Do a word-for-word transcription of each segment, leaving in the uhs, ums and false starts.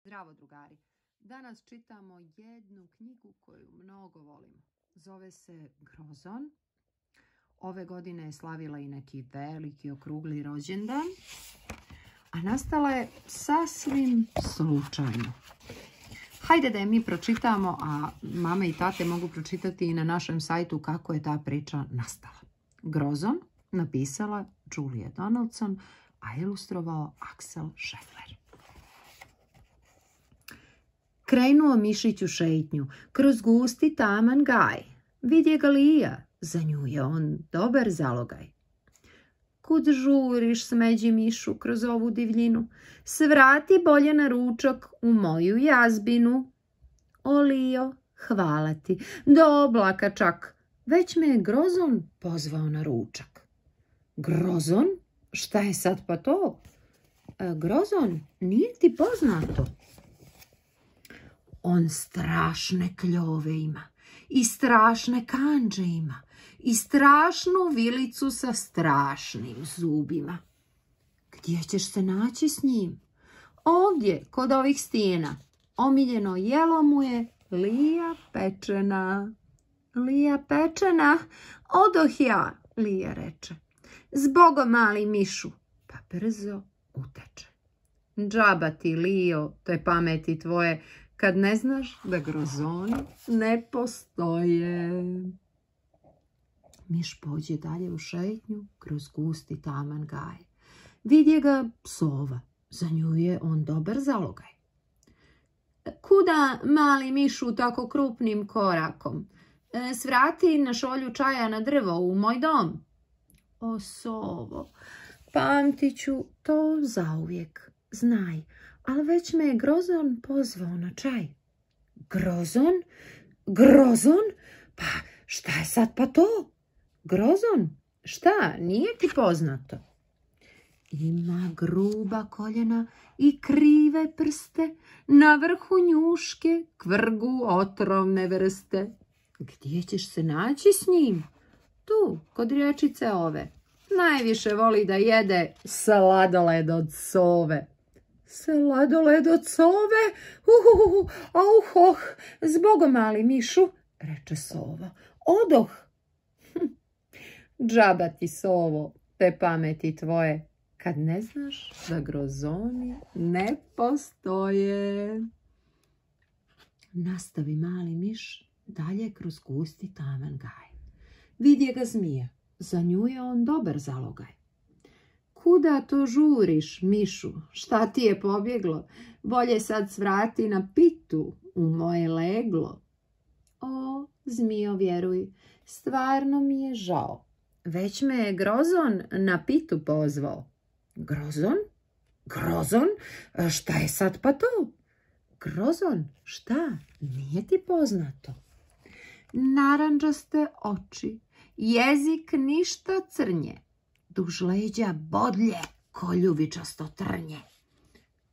Zdravo drugari, danas čitamo jednu knjigu koju mnogo volimo. Zove se Grozon. Ove godine je slavila i neki veliki okrugli rođendan, a nastala je sasvim slučajno. Hajde da je mi pročitamo, a mame i tate mogu pročitati i na našem sajtu kako je ta priča nastala. Grozon napisala Julia Donaldson, a ilustrovao Axel Scheffler. Krenuo mišić u šetnju, kroz gusti taman gaj. Vidje ga Lija, za nju je on dobar zalogaj. Kud žuriš, smeđi mišu, kroz ovu divljinu? Svrati bolje na ručak u moju jazbinu. O Lijo, hvala ti, do oblaka čak, već me je Grozon pozvao na ručak. Grozon? Šta je sad pa to? E, Grozon, nije ti poznato? On strašne kljove ima i strašne kanđe ima i strašnu vilicu sa strašnim zubima. Gdje ćeš se naći s njim? Ovdje, kod ovih stijena. Omiljeno jelo mu je Lija pečena. Lija pečena? Odoh ja, Lija reče. Zbogom, mali mišu, pa brzo uteče. Džaba ti, Lijo, te pameti tvoje, kad ne znaš da grozoni ne postoje. Miš pođe dalje u šetnju kroz gusti taman gaj. Vidje ga sova, za nju je on dobar zalogaj. Kuda, mali mišu, tako krupnim korakom? E, svrati na šolju čaja na drvo u moj dom. O sovo, pamtit ću to zauvijek, znaj, ali već me je Grozon pozvao na čaj. Grozon? Grozon? Pa šta je sad pa to? Grozon? Šta, nije ti poznato? Ima gruba koljena i krive prste, na vrhu njuške kvrgu otrovne vrste. Gdje ćeš se naći s njim? Tu, kod riječice ove. Najviše voli da jede sladoled od sove. Sladoled od sove? Uhuhu, auh, oh, zbogom, mali mišu, reče sova. Odoh. Hm. Džaba ti, sovo, te pameti tvoje, kad ne znaš da grozoni ne postoje. Nastavi mali miš dalje kroz gusti taman gaj. Vidje ga zmija, za nju je on dobar zalogaj. Kuda to žuriš, mišu, šta ti je pobjeglo? Bolje sad svrati na pitu u moje leglo. O, zmijo, vjeruj, stvarno mi je žao. Već me je Grozon na pitu pozvao. Grozon? Grozon? Šta je sad pa to? Grozon, šta? Nije ti poznato? Narandžaste oči, jezik ništa crnje, duž leđa bodlje ko ljubičasto trnje.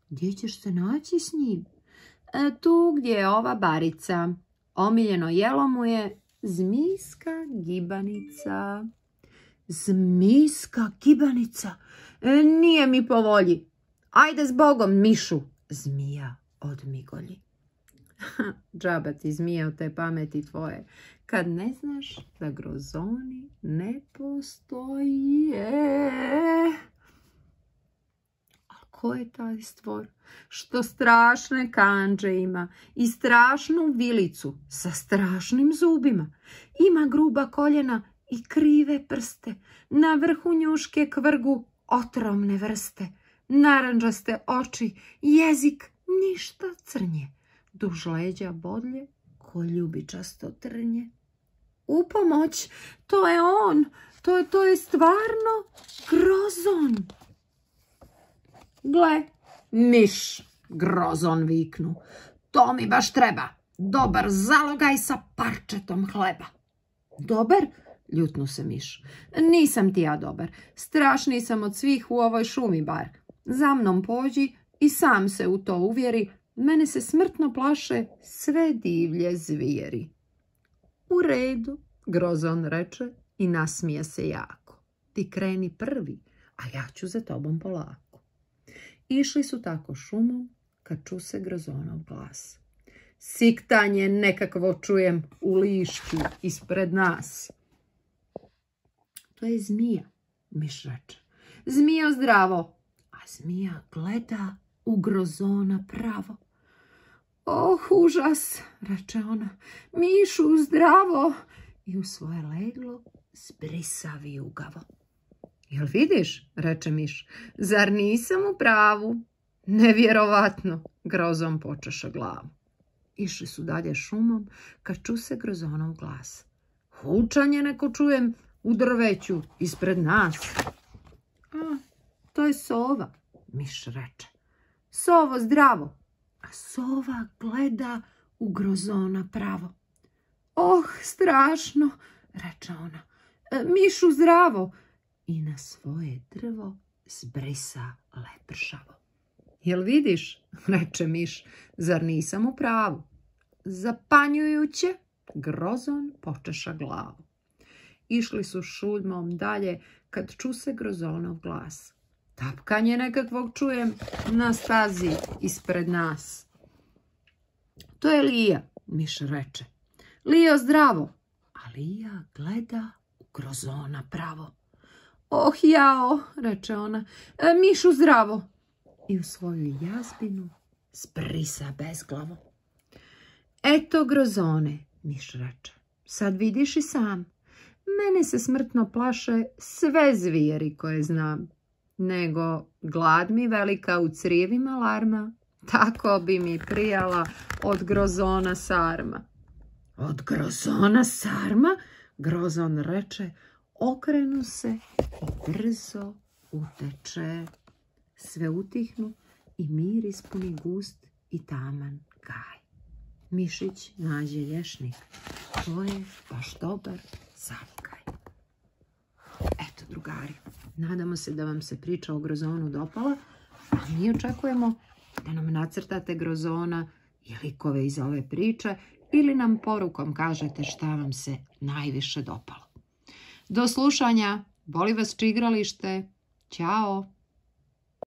Gdje ćeš se naći s njim? E, tu gdje je ova barica. Omiljeno jelo mu je zmijska gibanica. Zmijska gibanica? E, nije mi po volji. Ajde zbogom, mišu, zmija odmigolji. Džaba ti, zmija, od te pameti tvoje, kad ne znaš da grozoni ne postoje. A ko je taj stvor što strašne kanđe ima i strašnu vilicu sa strašnim zubima? Ima gruba koljena i krive prste, na vrhu njuške kvrgu otrovne vrste, narandžaste oči, jezik ništa crnje, duž leđa bodlje ko ljubičasto trnje. U pomoć, to je on, to je, to je stvarno Grozon. Gle, miš, Grozon viknu, to mi baš treba, dobar zalogaj sa parčetom hleba. Dobar? Ljutnu se miš. Nisam ti ja dobar, strašniji sam od svih u ovoj šumi bar. Za mnom pođi i sam se u to uvjeri, mene se smrtno plaše sve divlje zvijeri. U redu, Grozon reče i nasmije se jako. Ti kreni prvi, a ja ću za tobom polako. Išli su tako šumom, kad ču se grozonov glas. Siktanje nekakvo čujem u lišću ispred nas. To je zmija, miš reče. Zmijo zdravo, a zmija gleda u grozona pravo. Oh, užas, reče ona, mišu zdravo, i u svoje leglo zbrisa vijugavo. Jel vidiš, reče miš, zar nisam u pravu? Nevjerovatno, grozom počeša glavu. Išli su dalje šumom, kad ču se grozonov glas. Hučanje neko čujem u drveću ispred nas. A, to je sova, miš reče. Sovo zdravo, a sova gleda u grozona pravo. Oh, strašno, reče ona, e, mišu zdravo, i na svoje drvo zbrisa lepršavo. Jel vidiš, reče miš, zar nisam u pravu? Zapanjujuće, grozon počeša glavu. Išli su šuljmom dalje, kad ču se grozonov glas. Tapkanje nekakvog čujem na stazi ispred nas. To je Lija, miš reče. Lijo zdravo, a Lija gleda u grozona pravo. Oh jao, reče ona, e, mišu zdravo, i u svoju jazbinu zbrisa bezglavo. Eto grozone, miš reče, sad vidiš i sam, mene se smrtno plaše sve zvijeri koje znam, nego glad mi velika u crijevima larma, tako bi mi prijala od grozona sarma. Od grozona sarma, grozon reče, okrenu se i brzo uteče. Sve utihnu i mir ispuni gust i taman gaj. Mišić nađe lješnik. To je baš dobar zavkaj. Eto, drugari, nadamo se da vam se priča o grozonu dopala, a mi očekujemo da nam nacrtate grozona i likove iz ove priče ili nam porukom kažete šta vam se najviše dopalo. Do slušanja, boli vas čigralište, ćao!